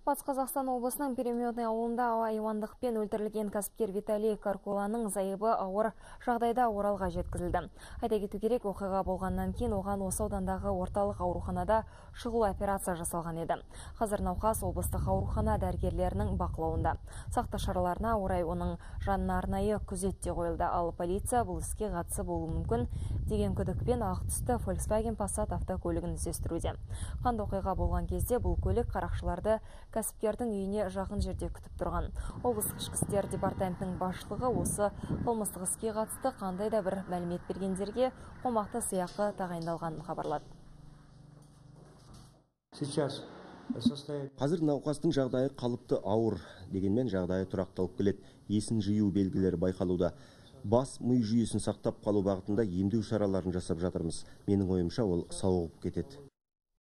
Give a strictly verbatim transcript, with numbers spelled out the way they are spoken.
Батыс Қазақстан облысының Переметный ауылында айуандықпен өлтірілген кәсіпкер Виталий Каркуланың зайыбы ауыр жағдайда Оралға жеткізілді. Айта кету керек, оқиға болғаннан кейін оған осы аудандағы орталық ауруханада шұғыл операция жасалған еді. Қазір науқас облыстық аурухана дәрігерлерінің бақылауында. Сақтық шараларына орай оның жанына арнайы күзетте қойылды, ал полиция бұл іске қатысы болуы мүмкін деген күдікпен ақ түсті Volkswagen Passat автокөлігін іздестіруде. Қанды оқиға болған кезде бұл көлік қарақшыларды кәсіпкердің үйіне жақын жерде күтіп тұрған. Облыстық ішкі істер департаментінің басшылығы осы қылмыстық іске қатысты қандай да бір мәлімет бергендерге қомақты сыйақы тағайындалғанын хабарлады. Қазір науқастың жағдайы қалыпты ауыр, дегенмен жағдайы тұрақталып келеді. Есін жию белгілері байқалуда. Бас ми жүйесін сақтап қалу бағытында емдеу шараларын жасап жатырмыз. Менің ойымша ол сауығып кетеді.